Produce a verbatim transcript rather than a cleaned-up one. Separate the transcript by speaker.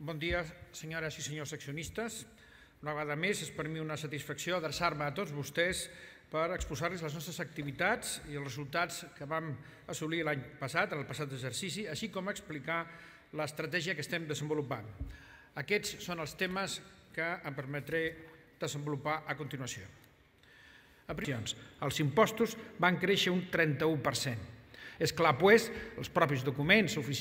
Speaker 1: Bon dia, senyores i senyors accionistes. Una vegada més, és per mi una satisfacció adreçar-me a tots vostès per exposar-los les nostres activitats i els resultats que vam assolir l'any passat, en el passat exercici, així com explicar l'estratègia que estem desenvolupant. Aquests són els temes que em permetré desenvolupar a continuació. Els impostos van créixer un trenta-u per cent. És clar, doncs, els propis documents oficials